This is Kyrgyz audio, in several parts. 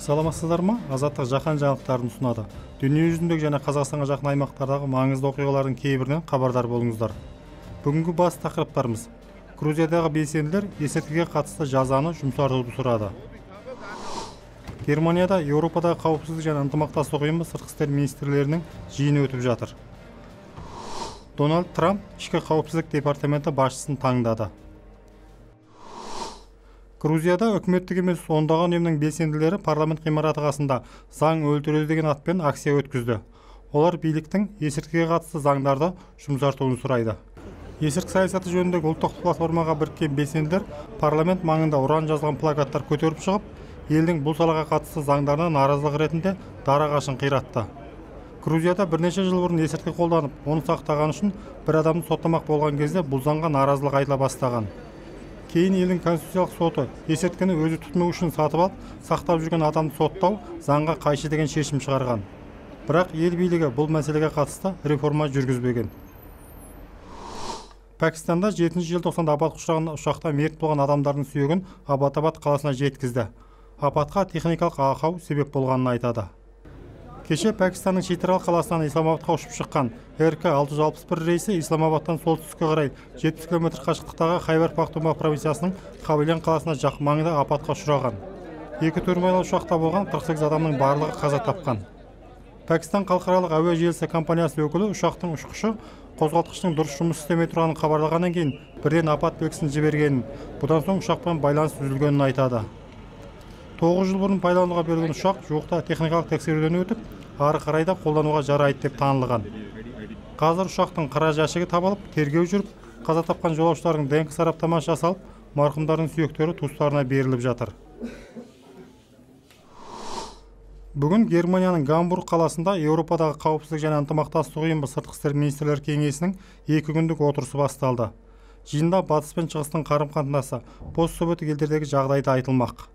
Саламатсыздарбы? Азаттык жаһан жаңылыктарын сунады. Дүйнө жүзүндөгү жана Казакстанга жакын аймактардагы маңыздуу окуялардын кээ биринен кабардар болуңуздар. Бүгүнкү бас такырыптарыбыз: Грузиядагы белсендилер эсертикке катысты жазаны жумшартууну сурады. Германияда Европадагы каупсуздук жана ынтымакташтык уюму сырткы иштер министрлеринин жыйыны өтүп жатыр. Дональд Трамп ички каупсуздук департаменти башчысын таңдады. Грузияда өкмөттүк эмес ондогон уюмдун белсендилери парламент кыймараты касында заң өлтүрөлү деген ат менен акция өткүздү. Олар бийликтин эсертикке катысты заңдарды жумшартууну сурайды. Эсиртик саясаты жөнүндөгү улуттук платформага бириккен белсендилер парламент маңында уран жазылган плакаттар көтөрүп чыгып, элдин бул салага катысты заңдарына нааразылык иретинде дара кашын кыйратты. Грузияда бир нече жыл мурун эсертик колдонуп, ону сактаган үчүн бир адамды соттомок болгон кезде бул заңга нааразылык айтыла баштаган. Кийин элдин конституциялык соту эсерткени өзү түтмөк үчүн сатып алып, сактап жүргөн адамды соттоо заңга кайшы деген чечим чыгарган. Бирок эл бийлиги бул маселеге катысты реформа жүргүзбөгөн. Пакистанда 7-желтоқсанда апатка учураган учакта мерт болгон адамдардын сүйөгүн Аббатабад каласына жеткизди. Апатка техникалык акау себеп болгонун айтады. Кеше Пакистандын Читрал каласынан Исламабадка учуп чыккан РК-661 рейси Исламабадтан солтүстүккө карай 70 км качыктыктагы Хайбар Пахтунхва провинциясынын Кабилен каласына жакын маңында апатка учураган. 2 турмайлуу учакта болгон 48 адамдын баардыгы каза тапкан. Пакистан калкаралык авиа желиси компаниясы өкүлү учактын учкучу козголткучтун дурус жумуш иштебей турганын кабарлагандан кийин бирден апат белгисин жибергенин, будан соң учак менен байланыш үзүлгөнүн айтады. 9 жыл мурун пайдаланууга берилген учак жуукта техникалык текшерүүдөн өтүп, ары карай да колдонууга жарайт деп таанылган. Азыр учактын кара жашыгы табылып, тергөө жүрүп, каза тапкан жолоочулардын ДНК сараптамасы жасалып, маркумдардын сүйөктөрү туустарына берилип жатыр. Бүгүн Германиянын Гамбург каласында Европадагы каупсуздук жана ынтымакташтык уюму сырткы иштер министрлер кеңесинин 2 күндүк отурусу башталды. Жыйында Батыс менен Чыгыстын карым-катнашы, пост-советтик элдердеги жагдайды айтылмак.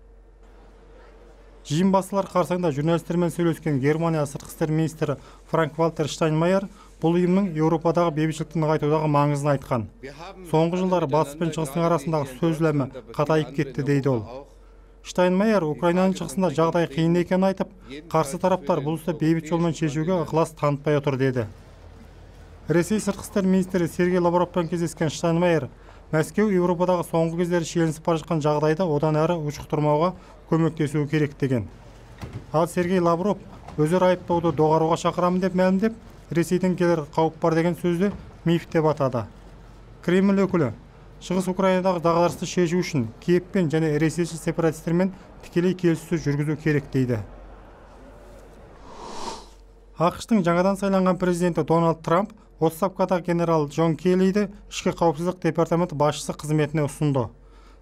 Жыйын башталар карсаңында журналисттер менен сүйлөшкөн Германия сырткы иштер министри Франк-Вальтер Штайнмайер бул уюмдун Европадагы бейбитчиликти ныгайтуудагы маңызын айткан. Соңку жылдары Батыс менен Чыгыстын арасындагы сөзлөмө катайып кетти дейди ол. Штайнмайер Украинанын чыгышында жагдай кыйын экенин айтып, каршы тараптар бул ишти бейбит жол менен чечүүгө ыклас танытпай отур деди. Ресей сырткы иштер министри Сергей Лавров менен кездескен Штайнмайер Мәскеу Европадагы соңку кездери шиеленип бара жаткан жагдайды одан ары учуктурмауга көмөктөшүү керек деген. Ал Сергей Лавров өзөр айыптоодо догарууга чакырамын деп маалымдеп, Ресейден келер кауп бар деген сөздү миф деп атады. Кремль өкүлү Чыгыс Украинадагы дагдарышты чечүү үчүн Киевпен жана ресейчил сепаратисттер менен тикелей келиссөз жүргүзүү керек дейди. АКШтын жаңадан сайланган президенти Дональд Трамп отставкадагы генерал Джон Келлиди ички каупсуздук департаменти башчысы кызметине усунду.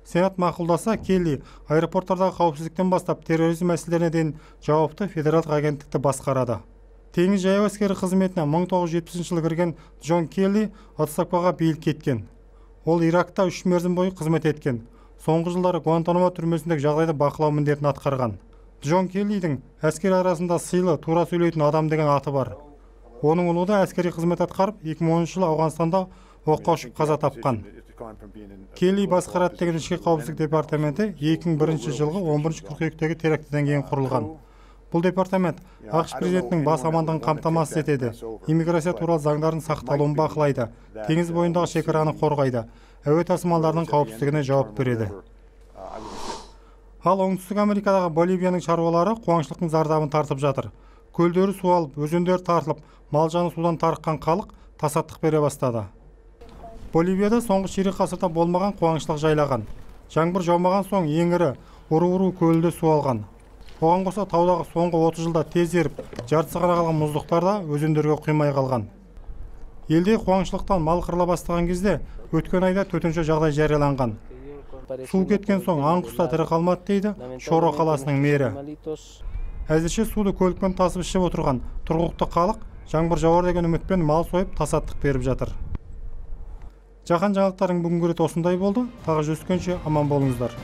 Сенат макулдаса, Келли аэропорттардагы каупсуздуктан баштап терроризм маселелерине дейин жауаптуу федералдык агенттикти баскарады. Теңиз жаяу аскери кызметине 1970-жылы кирген Джон Келли отставкага бийил кеткен. Ол Иракта 3 мерзим бою кызмет эткен. Соңку жылдары Гуантанамо түрмөсүндөгү жагдайды бакылоо милдетин аткарган. Джон Келлидин аскер арасында сыйлы, туура сүйлөйтүн адам деген аты бар. Онун улуу да аскери кызмет аткарып, 2010-жылы Ауганстанда окко учуп каза тапкан. Келли баскарат деген ички каупсуздук департаменти 2001-жылгы 11-кыркүйөктөгү терактиден кийин курулган. Бул департамент АКШ президентинин бас амандыгын камтамасыз этеди, иммиграция тууралуу заңдардын сакталуун бакылайды, теңиз боюндагы чекараны коргойду, әуе тасымалдарынын каупсуздугуна жооп берди. Ал Оңтүстүк Америкадагы Боливиянын чарбалары кубаңчылыктын зардабын тартып жатыр. Көлдөрү суу алып, өзөндөр тартылып, мал жаны суудан тарыккан калык тасаттык бере баштады. Боливияда соңку чирек асырда болмаган кубаңчылык жайлаган. Жаңбыр жаумаган соң эң ири Уруру көлүндө суу алган. Оған қоса таудагы соңку 30 жылда тез ерип, жартысы гана калган муздуктар да өзөндөргө куймай калган. Элде кубаңчылыктан мал кырыла баштаган кезде өткөн айда төтөнчө жагдай жарыяланган. Суу кеткен соң аң куста тире калмады дейди Шоро каласынын мэри. Азырчы сууду көлүкпөн тасып ишеп отурган тургуктуу калык жаңбыр жаабар деген үмүтпен мал союп тасаттык берип жатыр. Жаһан жаңылыктарынын бүгүнкү рети осундай болду. Дагы жүзүшкөнчө аман болуңуздар.